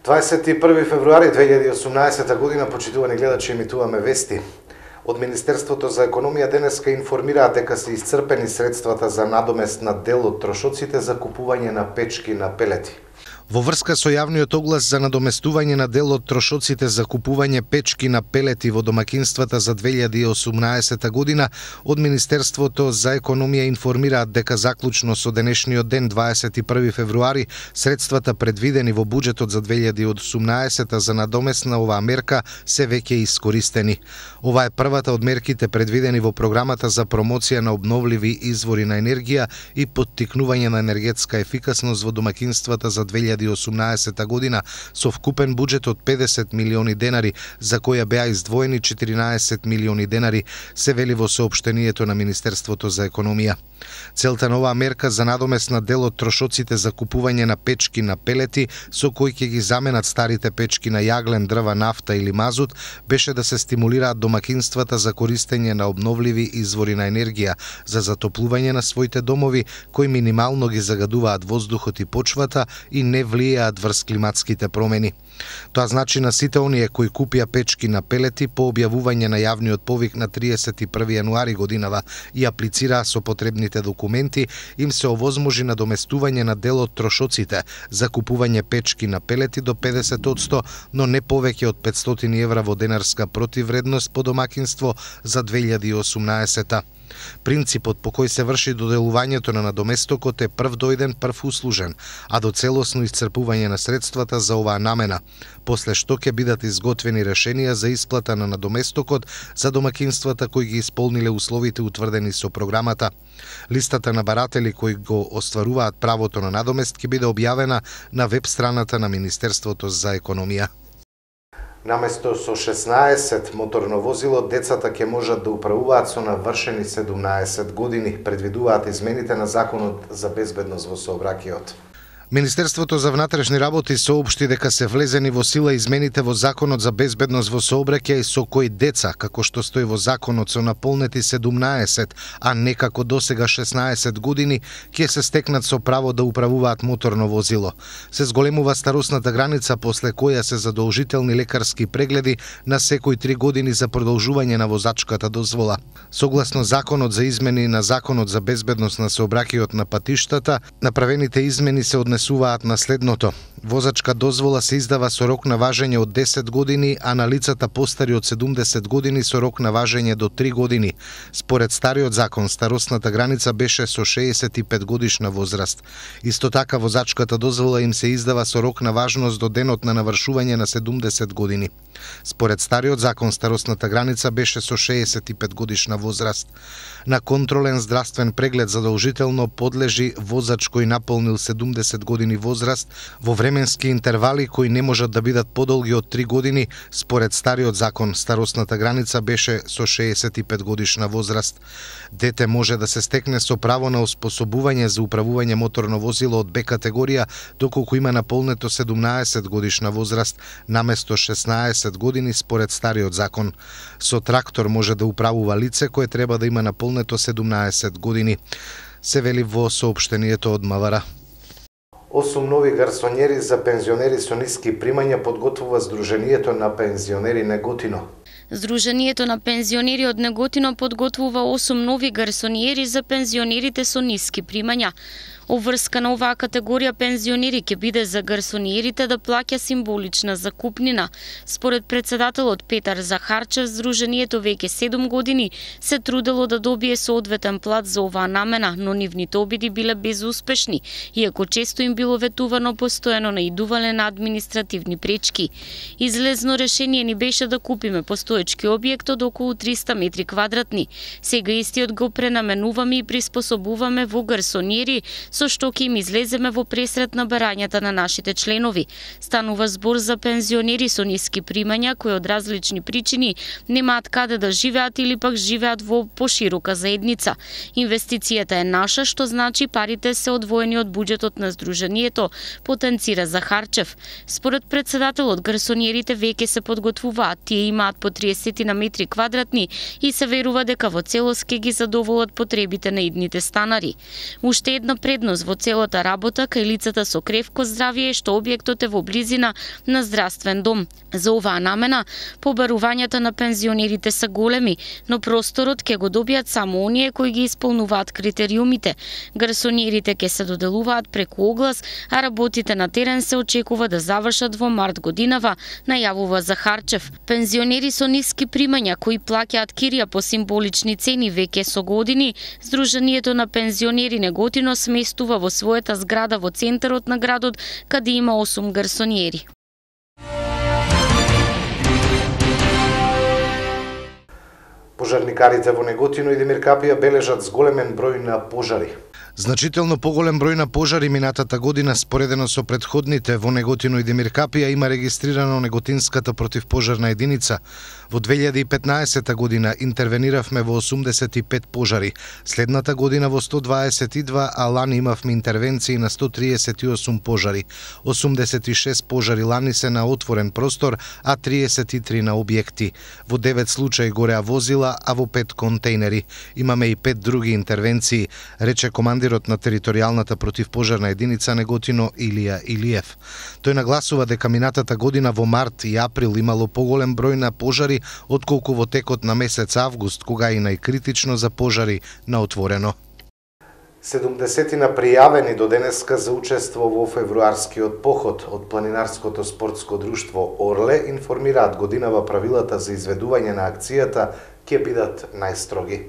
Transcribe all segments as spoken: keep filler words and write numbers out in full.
дваесет и први февруари две илјади и осумнаесета година, почитувани гледачи, емитуваме вести. Од Министерството за економија денеска информираат дека се исцрпени средствата за надомест на дел од трошоците за купување на печки на пелети. Во врска со јавниот оглас за надоместување на дел од трошоците за купување печки на пелети во домакинствата за две илјади и осумнаесета година, од Министерството за економија информираат дека заклучно со денешниот ден, дваесет и први февруари, средствата предвидени во буџетот за две илјади и осумнаесета за надомест на оваа мерка се веќе искористени. Ова е првата од мерките предвидени во програмата за промоција на обновливи извори на енергија и поттикнување на енергетска ефикасност во домакинствата за две илјади и осумнаесета година со вкупен буџет од педесет милиони денари, за која беа издвоени четиринаесет милиони денари, се вели во соопштението на Министерството за економија. Целта на оваа мерка за надомест на дел од трошоците за купување на печки на пелети, со кои ќе ги заменат старите печки на јаглен, дрва, нафта или мазут, беше да се стимулираат домакинствата за користење на обновливи извори на енергија за затоплување на своите домови, кои минимално ги загадуваат воздухот и почвата и не влијаат врз климатските промени. Тоа значи на сите оние кои купија печки на пелети по објавување на јавниот повик на триесет и први јануари годинава и аплицираа со потребните документи, им се овозможи надоместување на дел од трошоците за купување печки на пелети до педесет одсто, но не повеќе од петстотини евра во денарска противвредност по домакинство за две илјади и осумнаесета. Принципот по кој се врши доделувањето на надоместокот е прв дојден, прв услужен, а до целосно исцрпување на средствата за оваа намена, после што ќе бидат изготвени решенија за исплата на надоместокот за домакинствата кои ги исполниле условите утврдени со програмата. Листата на баратели кои го остваруваат правото на надомест ќе биде објавена на веб страната на Министерството за економија. Наместо со шеснаесет моторно возило, децата ќе можат да управуваат со навршени седумнаесет години, предвидуваат измените на Законот за безбедност во сообраќајот. Министерството за внатрешни работи соопшти дека се влезени во сила измените во Законот за безбедност во сообраќај со кои деца, како што стои во Законот, со наполнети седумнаесет, а не како досега шеснаесет години, ќе се стекнат со право да управуваат моторно возило. Се зголемува старосната граница после која се задолжителни лекарски прегледи на секои три години за продолжување на возачката дозвола. Согласно Законот за измени на Законот за безбедност на сообраќајот на патиштата, направените измени се однесуваат Суваат на следното. Возачка дозвола се издава со рок на важење од десет години, а на лицата постари од седумдесет години со рок на важење до три години. Според стариот закон, старосната граница беше со шеесет и пет годишна возраст. Исто така, возачката дозвола им се издава со рок на важност до денот на навршување на седумдесет години. Според стариот закон, старосната граница беше со шеесет и пет годишна возраст. На контролен здравствен преглед задолжително подлежи возач кој наполнил седумдесет години возраст во временски интервали кои не можат да бидат подолги од три години. Според стариот закон, старосната граница беше со шеесет и пет годишна возраст. Дете може да се стекне со право на оспособување за управување моторно возило од Б категорија доколку има наполнето седумнаесет годишна возраст наместо шеснаесет години според стариот закон. Со трактор може да управува лице кое треба да има наполнето седумнаесет години, се вели во соопштението од МВР. Осум нови гарсонјери за пензионери со ниски примања подготвува Сдруженијето на пензионери Неготино. Сдруженијето на пензионери од Неготино подготвува осум нови гарсонјери за пензионерите со ниски примања. Обврска на оваа категорија пензионери ќе биде за гарсониерите да плаќа символична закупнина. Според председателот Петар Захарчев, Сдруженијето веќе седум години се трудело да добие соодветен плат за оваа намена, но нивните обиди биле безуспешни, иако често им било ветувано постојано наидувале на административни пречки. Излезно решение ни беше да купиме постоечки објект од околу триста метри квадратни. Сега истиот го пренаменуваме и приспособуваме во гарсониери, со што ќе им излеземе во пресрет на барањата на нашите членови. Станува збор за пензионери со ниски примања кои од различни причини немаат каде да живеат или пак живеат во поширока заедница. Инвестицијата е наша, што значи парите се одвоени од буџетот на Сдруженијето, потенцира Захарчев. Според председателот, гарсониерите веќе се подготвуваат, тие имаат по триесет на метри квадратни и се верува дека во целост ќе ги задоволат потребите на идните станари. Уште една предност предност во целата работа кај лицата со кревко здравје што објектот е во близина на здравствен дом. За оваа намена, побарувањата на пензионерите се големи, но просторот ќе го добијат само оние кои ги исполнуваат критериумите. Гарсониерите ќе се доделуваат преку оглас, а работите на терен се очекува да завршат во март годинава, најавува Захарчев. Пензионери со ниски примања кои плаќаат кирија по символични цени веќе со години, Сдруженијето на пензионери Неготино сместува во својата зграда во центарот на градот, каде има осум гарсониери. Пожарникарите во Неготино и Демиркапија бележат зголемен број на пожари. Значително поголем број на пожари минатата година, споредено со претходните во Неготино и Демиркапија, има регистрирано Неготинската противпожарна единица. Во две илјади и петнаесета година интервениравме во осумдесет и пет пожари, следната година во сто дваесет и два, а лани имавме интервенции на сто триесет и осум пожари. осумдесет и шест пожари лани се на отворен простор, а триесет и три на објекти. Во девет случаи гореа возила, а во пет контейнери. Имаме и пет други интервенции, рече командирот на територијалната противпожарна единица Неготино Илија Илиев. Тој нагласува дека минатата година во март и април имало поголем број на пожари отколку во текот на месец август, кога и најкритично за пожари на отворено. седумдесетина пријавени до денеска за учество во февруарскиот поход од планинарското спортско друштво Орле информираат годинава правилата за изведување на акцијата ќе бидат најстроги.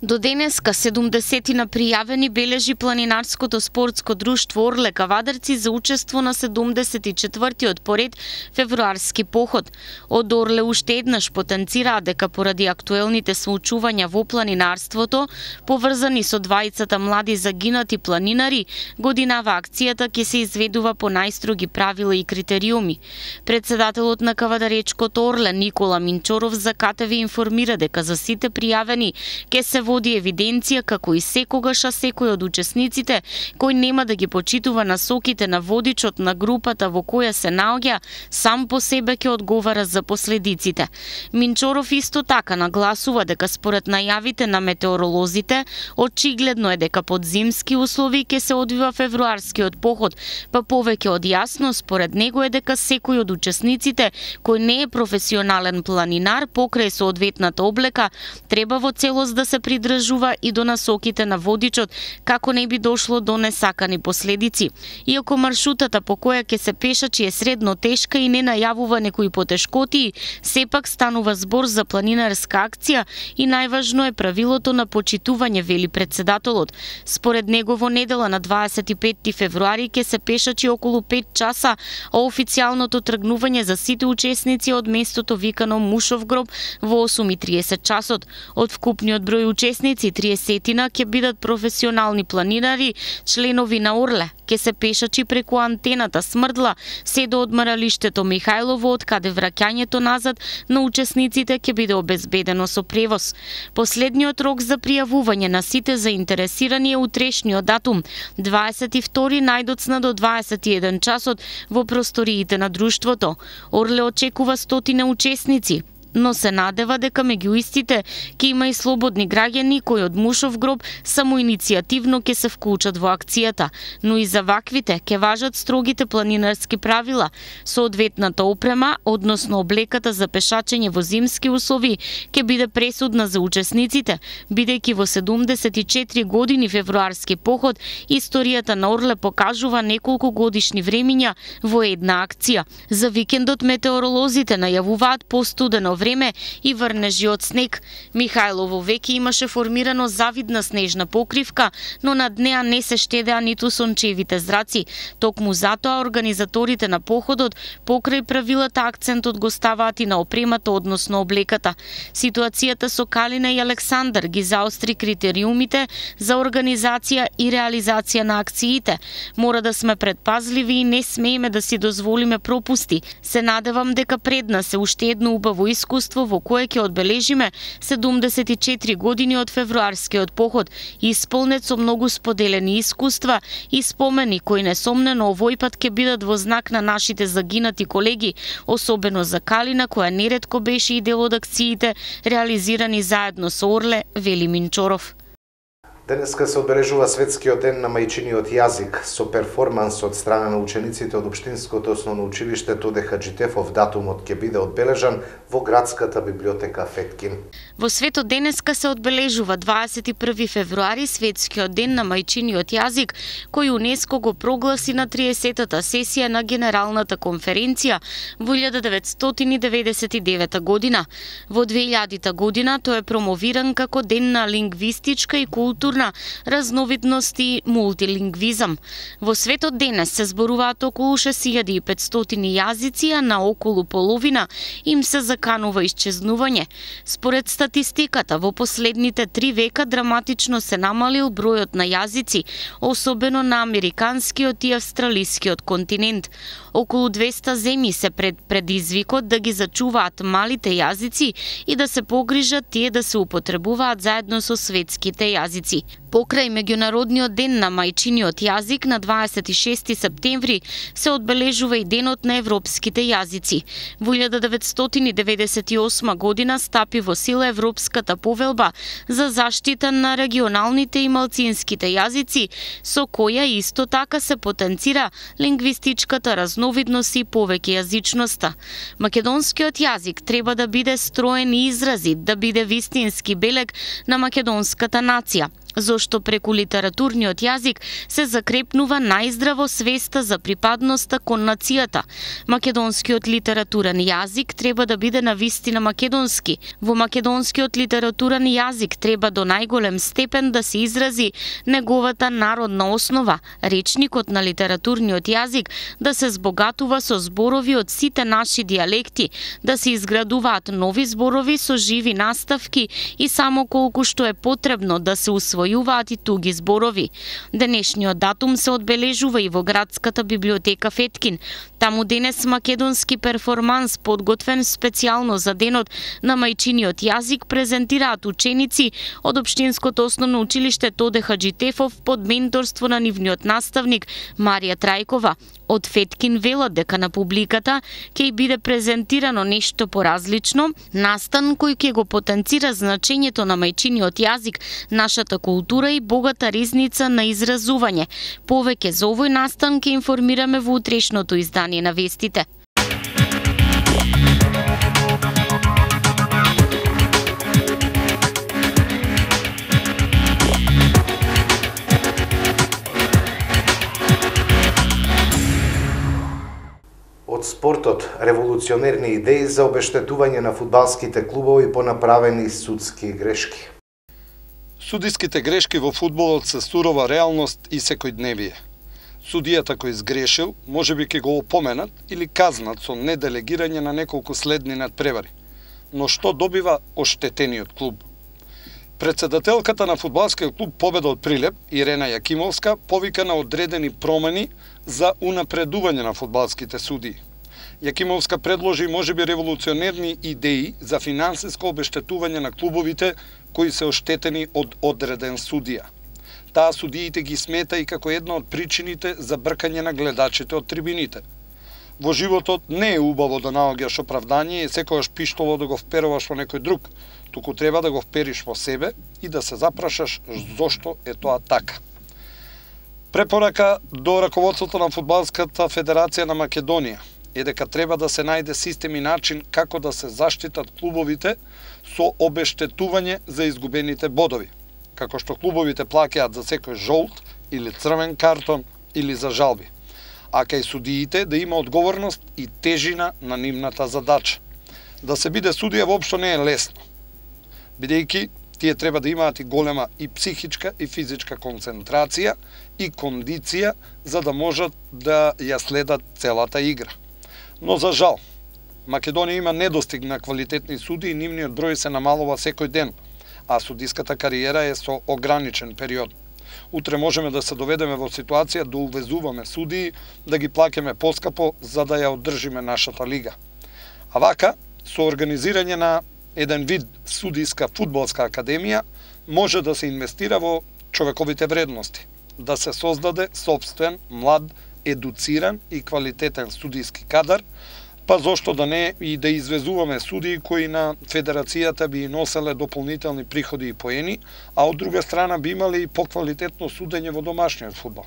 До денеска седумдесетина пријавени бележи планинарското спортско друштво Орле Кавадарци за учество на седумдесет и четвртиот поред февруарски поход. Од Орле уште еднаш потенцираа дека поради актуелните случувања во планинарството, поврзани со двајцата млади загинати планинари, годинава акцијата ќе се изведува по најстроги правила и критериуми. Председателот на Кавадаречкото Орле Никола Минчоров за КТВ информира дека за сите пријавени ќе се води евиденција како и секогаш, а секој од учесниците кој нема да ги почитува насоките на водичот на групата во која се наоѓа, сам по себе ќе одговара за последиците. Минчоров исто така нагласува дека според најавите на метеоролозите, очигледно е дека под зимски услови ќе се одвива февруарскиот поход, па повеќе од јасно според него е дека секој од учесниците кој не е професионален планинар покрај соодветната облека треба во целост да се придржува и до насоките на водичот, како не би дошло до несакани последици. Иако маршрутата по која ќе се пешачи е средно тешка и не најавува некои потешкотии, сепак станува збор за планинарска акција и најважно е правилото на почитување, вели председателот. Според него во недела на дваесет и петти февруари ќе се пешачи околу пет часа, а официјалното тргнување за сите учесници од местото викано Мушов гроб во осум и триесет часот. Од вкупниот број учесници, триесетина ќе бидат професионални планинари, членови на Орле. Ке се пешачи преку антената Смрдла, се до одмаралиштето Михајлово, од каде враќањето назад на учесниците ќе биде обезбедено со превоз. Последниот рок за пријавување на сите заинтересирани е утрешниот датум, дваесет и втори најдоцна до дваесет и еден часот во просториите на друштвото. Орле очекува стотина учесници, но се надева дека меѓу истите ќе има и слободни граѓани кои од Мушов гроб самоиницијативно ќе се вклучат во акцијата, но и за ваквите ќе важат строгите планинарски правила. Соодветната опрема, односно облеката за пешачење во зимски услови, ќе биде пресудна за учесниците, бидејќи во седумдесет и четири години февруарски поход, историјата на Орле покажува неколку годишни времиња во една акција. За викендот метеоролозите најавуваат постудено време и врнежи од снег. Михајлово веќе имаше формирано завидна снежна покривка, но над неа не се штедеа ниту сончевите зраци. Токму затоа организаторите на походот покрај правилата акцентот го ставаат и на опремата, односно облеката. Ситуацијата со Калина и Александар ги заостри критериумите за организација и реализација на акциите. Мора да сме предпазливи и не смееме да си дозволиме пропусти. Се надевам дека пред нас е уште едно убаво искуство во кое ќе одбележиме седумдесет и четири години од февруарскиот поход, исполнет со многу споделени искуства и спомени кои несомнено овој пат ќе бидат во знак на нашите загинати колеги, особено за Калина која неретко беше и дел од акциите реализирани заедно со Орле, вели Минчоров. Денеска се одбележува светскиот ден на мајчиниот јазик со перформанс од страна на учениците од Општинското основно училиште Тоде Хаџитефов. Датумот ќе биде одбележан во градската библиотека Феткин. Во светот денеска се одбележува дваесет и први февруари светскиот ден на мајчиниот јазик, кој УНЕСКО го прогласи на триесеттата сесија на Генералната конференција во илјада деветстотини деветдесет и девета година. Во две илјадита година тој е промовиран како ден на лингвистичка и културна разновидност и мултилингвизам. Во светот денес се зборуваат околу шест илјади и петстотини јазици, а на околу половина им се заканува исчезнување. Според статистиката, во последните три века драматично се намалил бројот на јазици, особено на американскиот и австралискиот континент. Околу двеста земји се пред предизвикот да ги зачуваат малите јазици и да се погрижат тие да се употребуваат заедно со светските јазици. Покрај меѓународниот ден на мајчиниот јазик на дваесет и шести септември се одбележува и денот на европските јазици. Во илјада деветстотини деветдесет и осма година стапи во сила Европската повелба за заштита на регионалните и малцинските јазици, со која исто така се потенцира лингвистичката разновидност и повеќе јазичноста. Македонскиот јазик треба да биде строен и изразит, да биде вистински белег на македонската нација, зошто преку литературниот јазик се закрепнува најздраво свеста за припадноста кон нацијата. Македонскиот литературен јазик треба да биде навистина македонски. Во македонскиот литературен јазик треба до најголем степен да се изрази неговата народна основа, речникот на литературниот јазик да се збогатува со зборови од сите наши дијалекти, да се изградуваат нови зборови со живи наставки и само колку што е потребно да се усвојуваат и туги зборови. Денешниот датум се одбележува и во градската библиотека Феткин. Таму денес македонски перформанс подготвен специјално за денот на мајчиниот јазик презентираат ученици од Општинското основно училиште Тоде Хаџитефов под менторство на нивниот наставник Марија Трајкова. Од Феткин велат дека на публиката ќе биде презентирано нешто поразлично, настан кој ќе го потенцира значењето на мајчиниот јазик, нашата култура и богата ризница на изразување. Повеќе за овој настан ќе информираме во утрешното издание на вестите. Од спортот, револуционерни идеи за обештетување на фудбалските клубови по направени судски грешки. Судиските грешки во фудбалот се сурова реалност и секојдневие. Судијата кој сгрешил, можеби ќе го опоменат или казнат со неделегирање на неколку следни надпревари. Но што добива оштетениот клуб? Председателката на фудбалскиот клуб Победа од Прилеп, Ирена Јакимовска, повика на одредени промени за унапредување на фудбалските судии. Јакимовска предложи можеби револуционерни идеи за финансиско обештетување на клубовите кои се оштетени од одреден судија. Таа судиите ги смета и како една од причините за бркање на гледачите од трибините. Во животот не е убаво да наоѓаш оправдање и секогаш пиштоло да го вперуваш во некој друг, туку треба да го впериш во себе и да се запрашаш зошто е тоа така. Препорака до раководството на Фудбалската федерација на Македонија е дека треба да се најде систем и начин како да се заштитат клубовите со обештетување за изгубените бодови, како што клубовите плаќаат за секој жолт или црвен картон или за жалби, а кај судиите да има одговорност и тежина на нивната задача. Да се биде судија воопшто не е лесно, бидејќи тие треба да имаат и голема и психичка и физичка концентрација и кондиција за да можат да ја следат целата игра. Но за жал, Македонија има недостиг на квалитетни суди и нивниот број се намалува секој ден, а судиската кариера е со ограничен период. Утре можеме да се доведеме во ситуација да увезуваме судии, да ги плаќаме поскапо за да ја одржиме нашата лига. А вака, со организирање на еден вид судиска фудбалска академија, може да се инвестира во човековите вредности, да се создаде собствен, млад, едуциран и квалитетен судиски кадар, па зошто да не и да извезуваме судии кои на федерацијата би носеле дополнителни приходи и поени, а од друга страна би имале и поквалитетно судење во домашниот фудбал.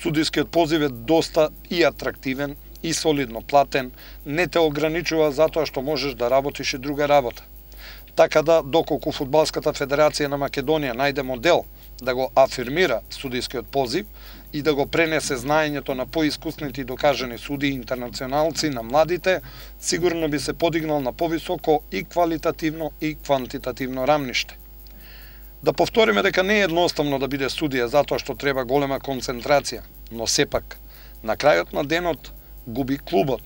Судискиот позив е доста и атрактивен, и солидно платен, не те ограничува затоа што можеш да работиш и друга работа. Така да, доколку Фудбалската федерација на Македонија најде модел да го афирмира судискиот позив и да го пренесе знаењето на поискусните и докажани судии интернационалци на младите, сигурно би се подигнал на повисоко и квалитативно и квантитативно рамниште. Да повториме дека не е едноставно да биде судија затоа што треба голема концентрација, но сепак, на крајот на денот губи клубот.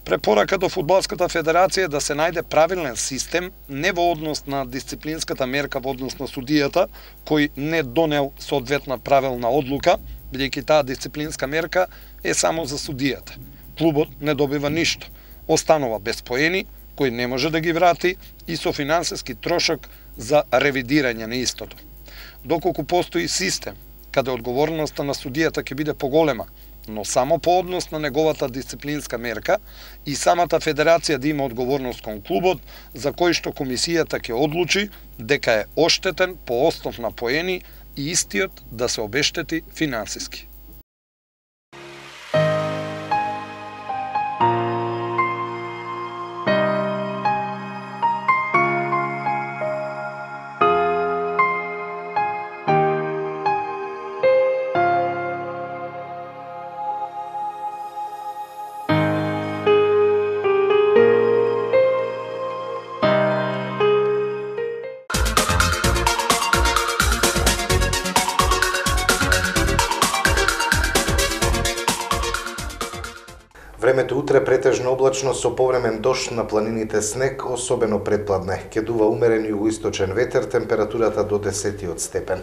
Препорака до Фудбалската федерација е да се најде правилен систем не во однос на дисциплинската мерка во однос на судијата, кој не донел соодветна правилна одлука, бидејќи таа дисциплинска мерка е само за судијата. Клубот не добива ништо, останува без поени, кој не може да ги врати и со финансиски трошок за ревидирање на истото. Доколку постои систем, каде одговорноста на судијата ќе биде поголема, но само по однос на неговата дисциплинска мерка и самата федерација да има одговорност кон клубот, за кој што комисијата ќе одлучи дека е оштетен по основ на поени и истиот да се обештети финансиски. Времето утре претежно облачно со повремен дожд, на планините снег, особено предпладне. Ќе дува умерен југоисточен ветер, температурата до десетиот степен.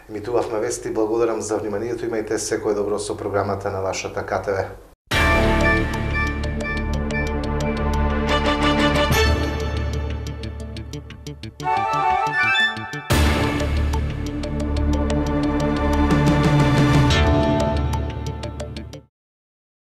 Емитувавме вести, благодарам за вниманието, имајте секој добро со програмата на вашата К Т В.